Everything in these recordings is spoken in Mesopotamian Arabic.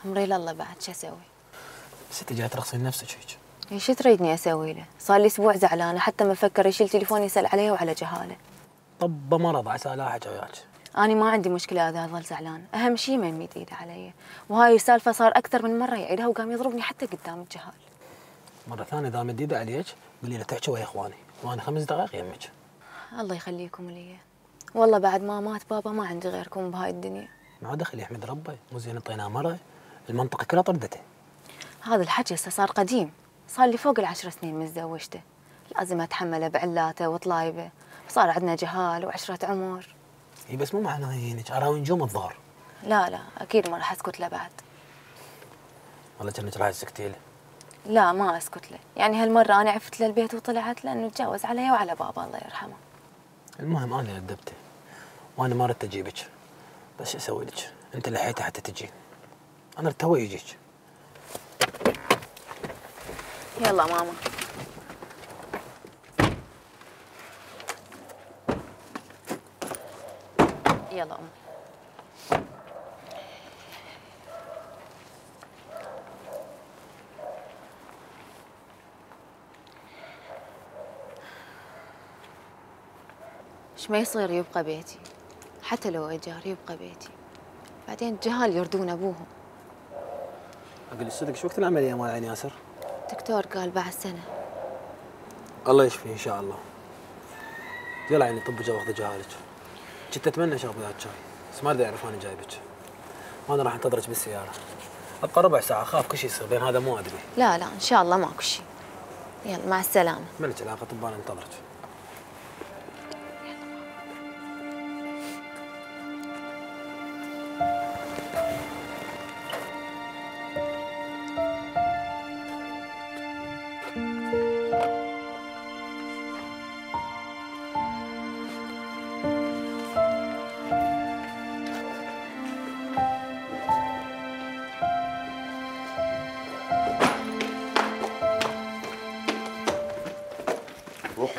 امري لله بعد شو اسوي؟ بس انت جاي ترخصين نفسك هيك. ايش تريدني اسوي له؟ صار لي اسبوع زعلانه، حتى ما فكر يشيل تليفوني يسال عليه وعلى جهاله. طب مرض عسى لا حكى وياك. أنا ما عندي مشكلة إذا ظل زعلان، أهم شيء ما يمد إيده علي، وهاي السالفة صار أكثر من مرة يعيدها وقام يضربني حتى قدام الجهال. مرة ثانية إذا مد إيده عليك قولي له تحكي ويا إخواني، وأنا 5 دقائق يمك. الله يخليكم لي. والله بعد ما مات بابا ما عندي غيركم بهاي الدنيا. ما دخل يحمد ربه، مو زين اعطيناه مرة، المنطقة كلها طردته. هذا الحكي هسه صار قديم، صار لي فوق ال10 سنين متزوجته، لازم أتحمله بعلاته وطلايبه، صار عندنا جهال وعشرة عمر. اي بس مو معناه هينك اراوي نجوم الظهر. لا اكيد ما راح اسكت له بعد. والله كأنك راح تسكتي له. لا ما اسكت له، يعني هالمره انا عفت له البيت وطلعت لانه تجاوز علي وعلى بابا الله يرحمه. المهم انا اللي ادبته وانا ما ردت اجيبك، بس شو اسوي لك؟ انت لحيته حتى تجي. انا تو يجيك. يلا ماما. يلا أم. ايش ما يصير يبقى بيتي، حتى لو ايجار يبقى بيتي، بعدين الجهال يردون ابوهم. اقول الصدق شو وقت العمليه مال عين ياسر؟ الدكتور قال بعد سنه. الله يشفيه ان شاء الله. يلا عيني طب جا واخذ جهالك. كنت اتمنى اشرب وياك شاي، بس ما ادري اعرف انا جايبك. وانا راح انتظرك بالسياره. ابقى ربع ساعه، اخاف كل شيء يصير بين هذا مو ادري. لا ان شاء الله ماكو شيء. يلا مع السلامه. مالك علاقه طب انا انتظرك. روح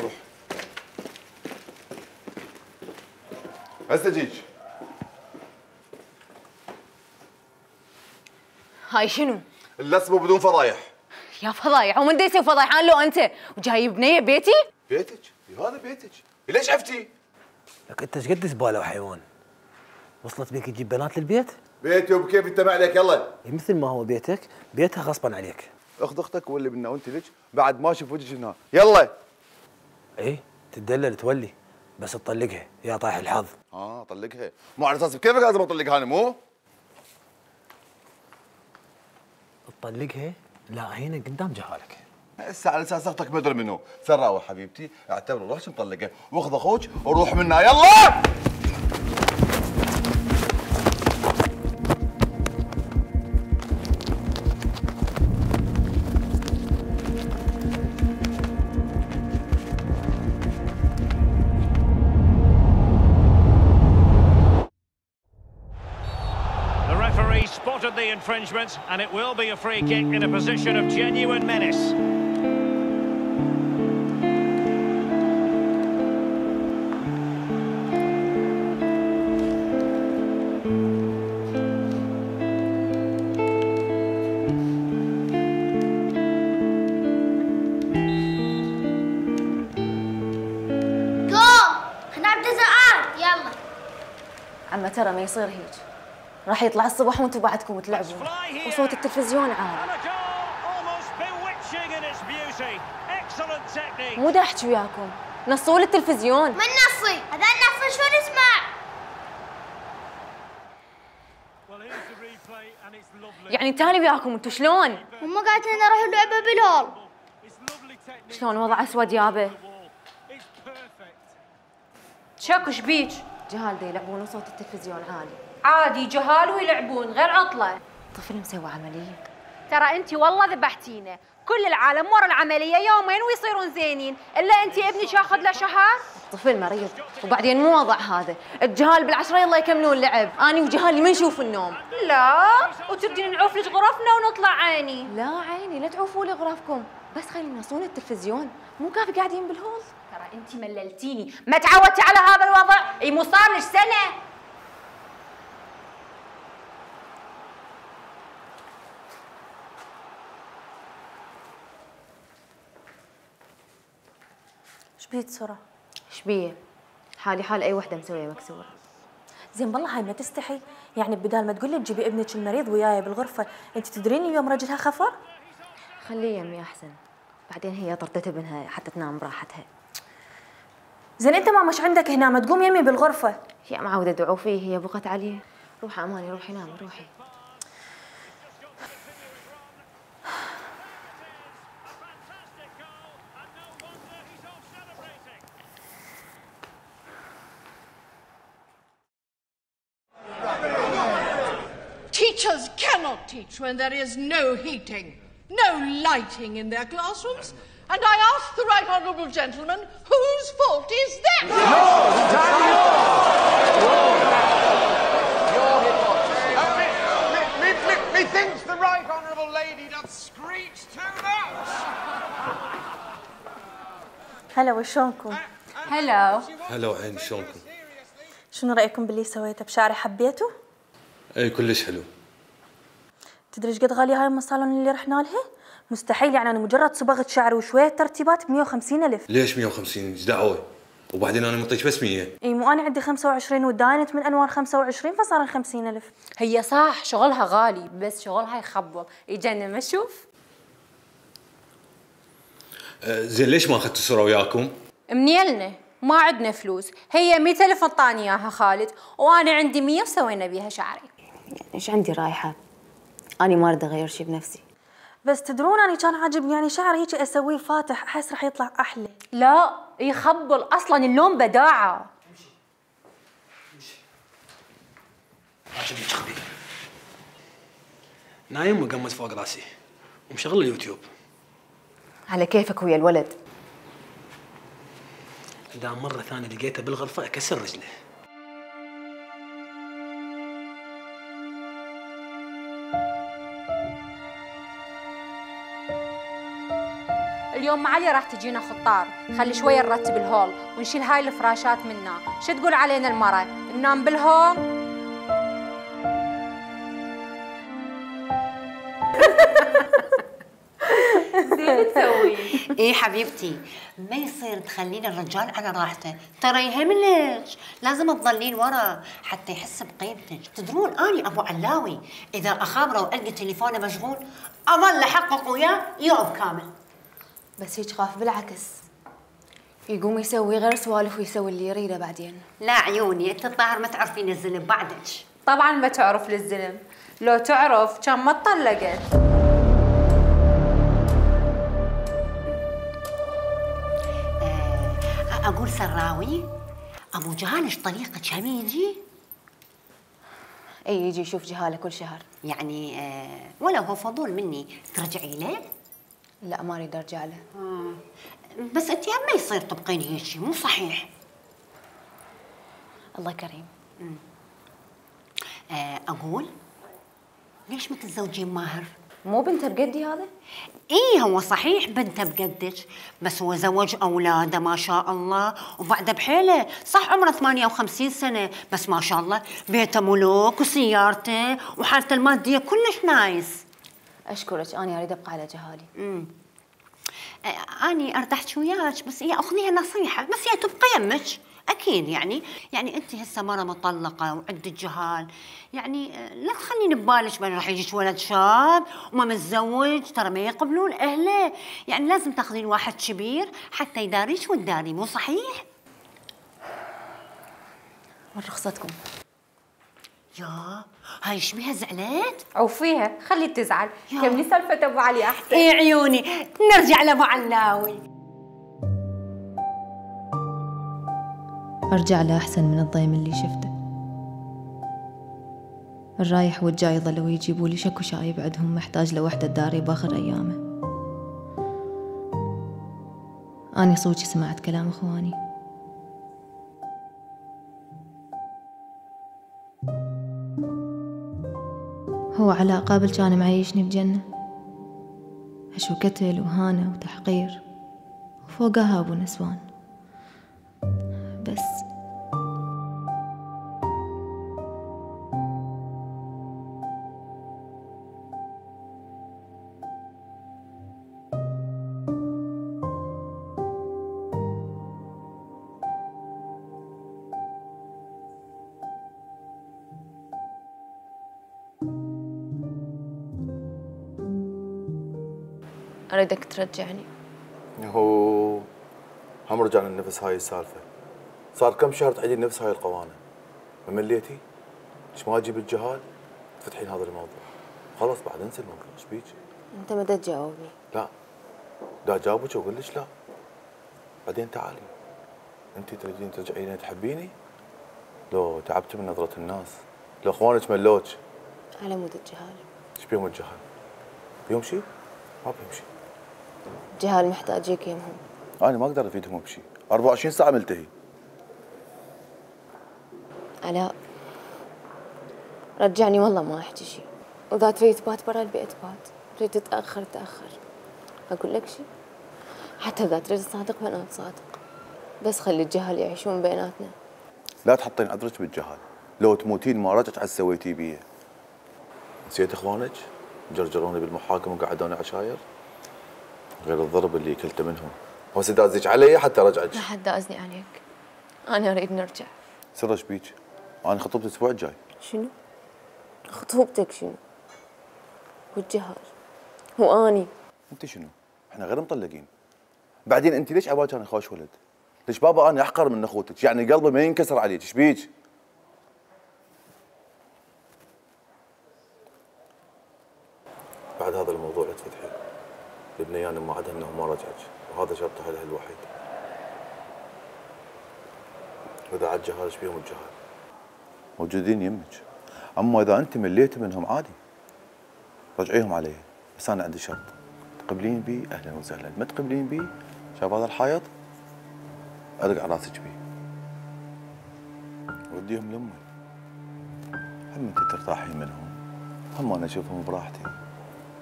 هسه جيج. هاي شنو؟ اللسمه بدون فضايح. يا فضايح ومن دا يسوي فضايح انا لو انت وجايب بنيه بيتي؟ بيتك؟ هذا بيتك، ليش عفتي؟ لك انت ايش قد زباله وحيوان؟ وصلت بيك تجيب بنات للبيت؟ بيتي وبكيف انت ما عليك يلا. مثل ما هو بيتك، بيتها غصبا عليك. اخذ اختك واللي بنا وانت لك بعد ما اشوف وجهك هنا، يلا. ايه تدلل تولي، بس تطلقها يا طايح الحظ. طلقها، مو على اساس كيفك لازم اطلقها انا مو؟ تطلقها؟ لا هنا قدام جهالك. هسه على اساس اختك مدري منو، سراوي حبيبتي، اعتبر روحك مطلقه، واخذ اخوك وروح منا يلا. Spotted the infringement, and it will be a free kick in a position of genuine menace. جول! خلينا نبدا زقان، يلا. عمّا ترى ما يصير هيك. راح يطلع الصبح وانتم بعدكم تلعبون وصوت التلفزيون عالي. مو دا احكي وياكم، نصوا لي التلفزيون. من نصي؟ هذا النص شو نسمع؟ يعني تاني وياكم انتم شلون؟ هم قالت لنا نروح اللعبه بالهول. شلون وضع اسود يابا؟ شكو شبيك؟ جهال دا يلعبون وصوت التلفزيون عالي. عادي جهال ويلعبون غير عطله. طفل مسوي عمليه. ترى انت والله ذبحتينا، كل العالم ورا العمليه يومين ويصيرون زينين، الا انت ابنك ياخذ له شهر. الطفل مريض، وبعدين مو وضع هذا، الجهال بالعشرة يلا يكملون لعب، اني وجهالي ما نشوف النوم. لا، وتردين نعوف لك غرفنا ونطلع عيني. لا عيني لا تعوفوا لي غرفكم، بس خلينا ينصون التلفزيون، مو كافي قاعدين بالهول. ترى انت مللتيني، ما تعودتي على هذا الوضع، اي مو صار لك سنه. بيك سرى؟ شبيه؟ حالي حال اي وحده مسويه مكسوره. زين بالله هاي ما تستحي؟ يعني بدال ما تقولي تجيبي ابنك المريض وياي بالغرفه، انت تدرين اليوم رجلها خفر؟ خليه يمي احسن، بعدين هي طردت ابنها حتى تنام براحتها. زين انت ما مش عندك هنا، ما تقوم يمي بالغرفه؟ هي معوده ادعو فيه، هي بقت عليه. روحي اماني، روحي نامي روحي. Teachers cannot teach when there is no heating, no lighting in their classrooms. And I ask the right honourable gentleman, whose fault is that? Methinks the right honourable lady doth screech too much. هلا وشلونكم؟ هلا. هلا وعيني، شلونكم؟ شنو رايكم باللي سويته بشعري؟ حبيته؟ اي كلش حلو. تدري ايش قد غاليه هاي الصالون اللي رحنا لها؟ مستحيل، يعني انا مجرد صبغه شعر وشويه ترتيبات ب 150,000. ليش 150؟ ايش دعوه؟ وبعدين انا معطيك بس 100. اي مو انا عندي 25 وداينت من انوار 25 فصار 50,000. هي صح شغلها غالي، بس شغلها يخبل يجنن. ما اشوف زين ليش ما اخذت الصوره وياكم؟ منيلنا ما عندنا فلوس. هي 100,000 انطاني اياها خالد، وانا عندي 100 وسوينا بيها شعري. يعني ايش عندي رايحه؟ اني ما اريد اغير شيء بنفسي. بس تدرون اني كان عاجبني يعني شعري هيك اسويه فاتح، احس راح يطلع احلى. لا يخبل، اصلا اللون بداعه. عجبني خبي نايم وقمت فوق راسي ومشغل اليوتيوب. على كيفك ويا الولد. اذا مره ثانيه لقيته بالغرفه اكسر رجله. اليوم معلي راح تجينا خطار، خلي شويه نرتب الهول ونشيل هاي الفراشات منا. شو تقول علينا المرة؟ ننام بالهول؟ زين تسوي. ايه حبيبتي، ما يصير تخلين الرجال على راحته، ترى يهملك، لازم تظلين ورا حتى يحس بقيمتك. تدرون اني ابو علاوي اذا اخابره والقى تليفونه مشغول اظل احقق وياه يوم كامل. بس هيك خاف بالعكس، يقوم يسوي غير سوالف ويسوي اللي يريده بعدين. لا عيوني، انت الظاهر ما تعرفين الزلم بعدك. طبعا ما تعرف للزلم، لو تعرف كان ما اتطلقت. اقول سراوي، ابو جهالش طريقة هم يجي؟ اي يجي يشوف جهاله كل شهر. يعني ولو هو فضول مني ترجعي له؟ لا ما اريد ارجع له. بس انت ما يصير تبقين هيك، مو صحيح. الله كريم. اقول ليش ما تتزوجين ماهر؟ مو بنته بقدي هذا؟ ايه هو صحيح بنته بقدك، بس هو زوج اولاده ما شاء الله وبعده بحيله. صح عمره 58 سنه، بس ما شاء الله بيته ملوك وسيارته وحالته الماديه كلش نايس. اشكرك، انا اريد ابقى على جهالي. اني ارتحت وياك، بس هي اخذيها نصيحه، بس هي تبقى يمك اكيد. يعني انت هسه مره مطلقه وعندك جهال، يعني لا تخلين ببالك بان راح يجيك ولد شاب وما متزوج، ترى ما يقبلون اهله. يعني لازم تاخذين واحد كبير حتى يداريك وتداري، مو صحيح؟ من رخصتكم. يا هاي ايش بيها زعلت؟ عوفيها خلي تزعل، كملي سالفة ابو علي احسن. ايه عيوني، نرجع لابو علاوي. ارجع له احسن من الضيم اللي شفته. الرايح والجاي ظلوا يجيبوا لي شكو شايب عندهم محتاج لوحده تداري باخر ايامه. اني صوتي سمعت كلام اخواني. هو على قابل كان معيشني بجنة، هشو قتل وهانة وتحقير وفوقها أبو نسوان. بس اريدك ترجعني. هو هم رجعنا لنفس هاي السالفه. صار كم شهر تعيدين نفس هاي القوانين. ما مليتي؟ ليش ما اجيب الجهال تفتحين هذا الموضوع؟ خلاص بعد انسى الموضوع. ايش بيك؟ انت ما تجاوبني. لا دا اجاوبك واقول لك لا. بعدين تعالي. انت تريدين ترجعين تحبيني؟ لو تعبتي من نظره الناس، لو اخوانك ملوك. على مود الجهال. ايش بيهم الجهال؟ بيهم شيء؟ ما بيهم شيء. الجهال محتاجيك يمهم. انا ما اقدر افيدهم بشيء، 24 ساعه ملتهي. علاء رجعني والله ما احكي شيء، واذا تريد تبات برا البيت بات، تريد تتاخر تاخر. اقول لك شيء، حتى اذا تريد تصادق بنات صادق، بس خلي الجهل يعيشون بيناتنا. لا تحطين عذرك بالجهل، لو تموتين ما رجعت على سويتي بيه. نسيت اخوانك؟ جرجروني بالمحاكم وقعدوني عشاير؟ غير الضرب اللي كلته منهم. هسه دازيك علي حتى رجعك. لا حد دازني عليك، انا اريد نرجع. سر ايش بيك؟ انا خطبتي الاسبوع الجاي. شنو؟ خطوبتك شنو؟ والجهل هو اني. انت شنو؟ احنا غير مطلقين. بعدين انت ليش عبالك انا خوش ولد؟ ليش بابا انا احقر من اخوتك؟ يعني قلبي ما ينكسر عليك، ايش بيك؟ بعد هذا الموضوع لا تفتحي. البنيان ما عدها انه ما رجعك، وهذا شرط حلها الوحيد. واذا عاد جهال ايش بيهم الجهال؟ موجودين يمك. اما اذا انت مليت منهم عادي رجعيهم علي، بس انا عندي شرط. تقبلين بي اهلا وسهلا، ما تقبلين بي شايف هذا الحائط ارقع راسك بيه. وديهم لامي. هم انت ترتاحين منهم، هم انا اشوفهم براحتي،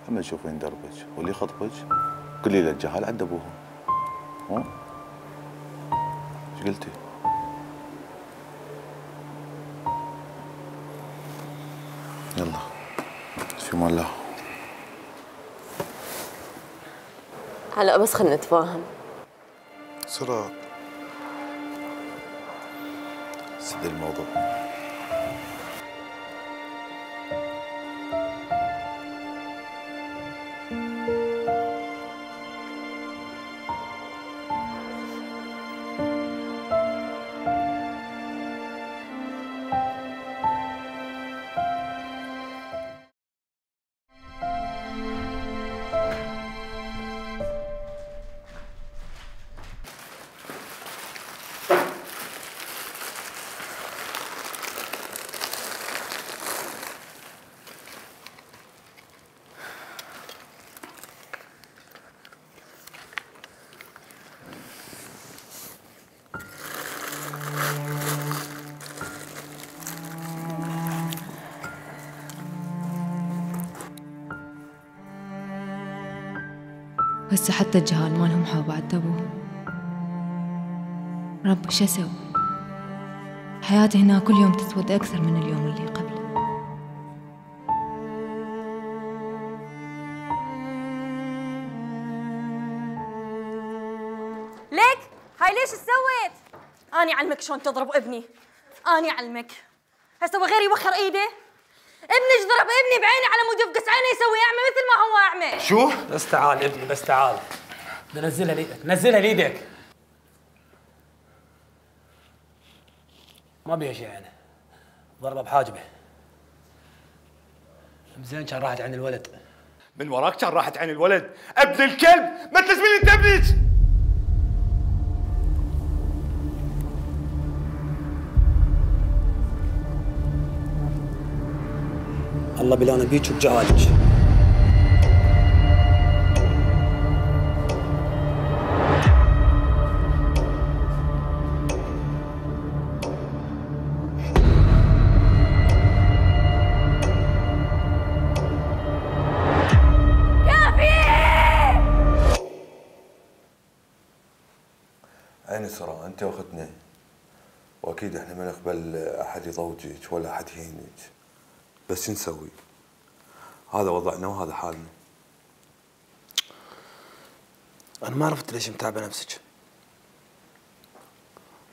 هم يشوفين دربك واللي يخطبك قولي له الجهال عند ابوهم. ها؟ ايش قلتي؟ يلا في امان الله. هلا بس خلينا نتفاهم. سراب سد الموضوع. هسه حتى الجهال مالهم حاب عذبوهم. رب شو اسوي؟ حياتي هنا كل يوم تسود اكثر من اليوم اللي قبله. ليك هاي ليش سويت؟ اني اعلمك شلون تضرب ابني، اني اعلمك. هسه غير يوخر ايده. ابنك ضرب ابني بعيني على مود يفقس عينه يسوي اعمى مثل ما هو اعمى. شو؟ بس تعال ابني بس تعال. نزلها ليدك، نزلها ليدك. ما بيها شيء انا. ضربه بحاجبه. زين كان راحت عن الولد. من وراك كان راحت عن الولد، ابن الكلب، ما تلزمين انت ابنك. الله بلانا بيك وبجهالك. عيني سراء، انت واختنا واكيد احنا ما نقبل احد يضوجك ولا احد يهينك، بس شو نسوي؟ هذا وضعنا وهذا حالنا. انا ما عرفت ليش متعبه نفسك.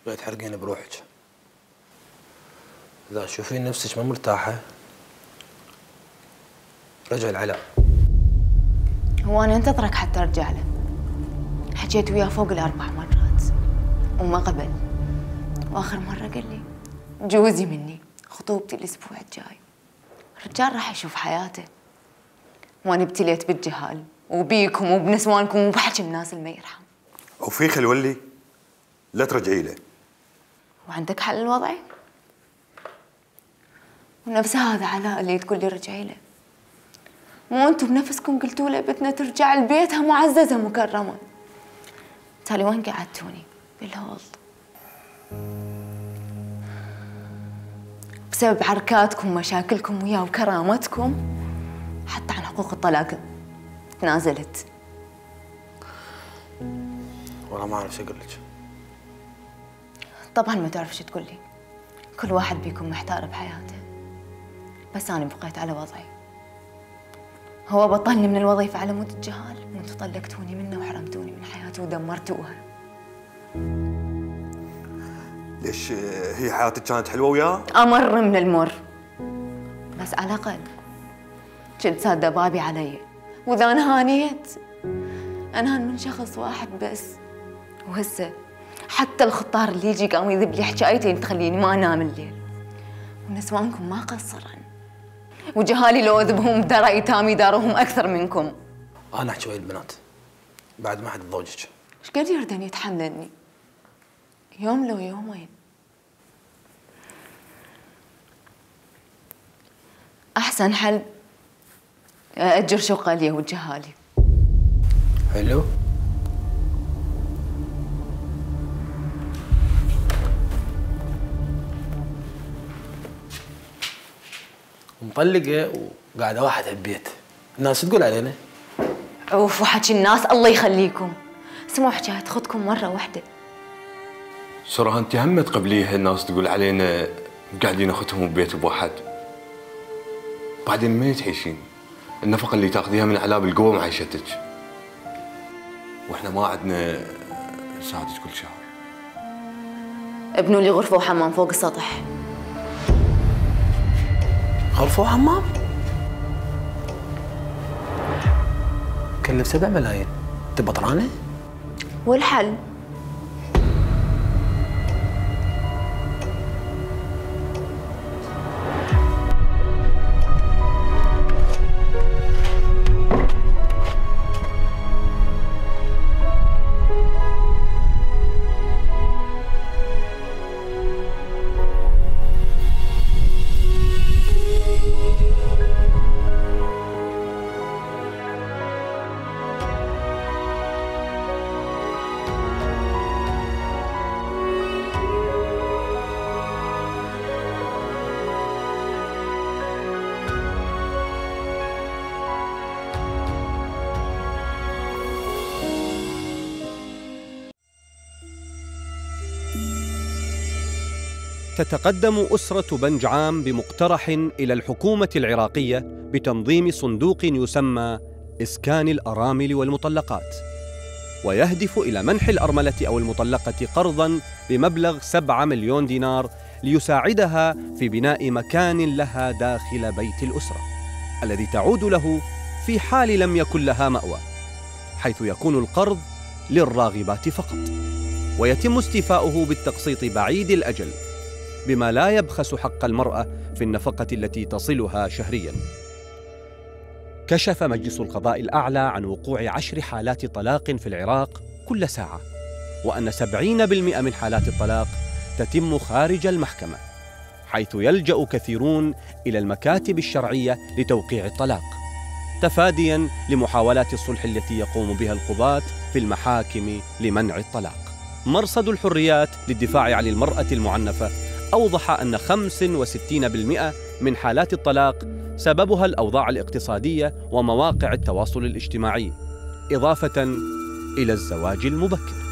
لا تحرقين بروحك. اذا تشوفين نفسك ما مرتاحه رجعي العلاء. هو أنا انتظرك حتى أرجع له. حكيت وياه فوق ال4 مرات وما قبل، وآخر مرة قال لي جوزي مني، خطوبتي الأسبوع الجاي. الرجال راح يشوف حياته، وأنا ابتليت بالجهال وبيكم وبنسوانكم وبحكي الناس اللي ما يرحم. وفي خلولي لا ترجعي له. وعندك حل الوضع؟ ونفس هذا علاء اللي تقول لي رجعي له، مو انتم بنفسكم قلتوا له بدنا ترجع لبيتها معززه مكرمه. تالي وين قعدتوني؟ بالهول. بسبب عركاتكم ومشاكلكم وياه وكرامتكم حتى عن حقوق الطلاق تنازلت. والله ما اعرف شو اقول لك. طبعا ما تعرف شو تقول لي، كل واحد بيكون محتار بحياته، بس انا بقيت على وضعي. هو بطلني من الوظيفه على مود الجهال، وانتم طلقتوني منه وحرمتوني من حياتي ودمرتوها. ليش هي حياتك كانت حلوه وياه؟ امر من المر، بس على الاقل كنت ساده بابي علي، واذا انهانيت انهان من شخص واحد بس. وهسه حتى الخطار اللي يجي قام يذب لي حكايتين تخليني ما انام الليل. ونسوانكم ما قصرن، وجهالي لو اذبهم بدار ايتامي داروهم اكثر منكم. انا احكي ويا البنات بعد ما حد تزوجك. ايش قد يردن يتحملني؟ يوم لو يومين. احسن حل اجر شقه لي وجهالي. حلو. مطلقه وقاعده واحد البيت، الناس تقول علينا؟ عوف وحكي الناس الله يخليكم. اسمعوا حكايه اختكم مره واحده. سراها انت هم تقبليها الناس تقول علينا قاعدين اختهم ببيت بواحد. بعدين ما تعيشين النفقه اللي تاخذيها من علاب القوه معيشتك، واحنا ما عندنا نساعدك كل شهر. ابنوا لي غرفه وحمام فوق السطح. غرفه وحمام؟ كلف 7 ملايين، تبى طرانه؟ والحل؟ تتقدم أسرة بنجعام بمقترح إلى الحكومة العراقية بتنظيم صندوق يسمى إسكان الأرامل والمطلقات، ويهدف إلى منح الأرملة أو المطلقة قرضاً بمبلغ 7 مليون دينار ليساعدها في بناء مكان لها داخل بيت الأسرة الذي تعود له في حال لم يكن لها مأوى، حيث يكون القرض للراغبات فقط، ويتم استيفاؤه بالتقسيط بعيد الأجل بما لا يبخس حق المرأة في النفقة التي تصلها شهرياً. كشف مجلس القضاء الأعلى عن وقوع 10 حالات طلاق في العراق كل ساعة، وأن 70% من حالات الطلاق تتم خارج المحكمة، حيث يلجأ كثيرون إلى المكاتب الشرعية لتوقيع الطلاق، تفادياً لمحاولات الصلح التي يقوم بها القضاة في المحاكم لمنع الطلاق. مرصد الحريات للدفاع عن المرأة المعنفة أوضح أن 65% من حالات الطلاق سببها الأوضاع الاقتصادية ومواقع التواصل الاجتماعي، إضافة إلى الزواج المبكر.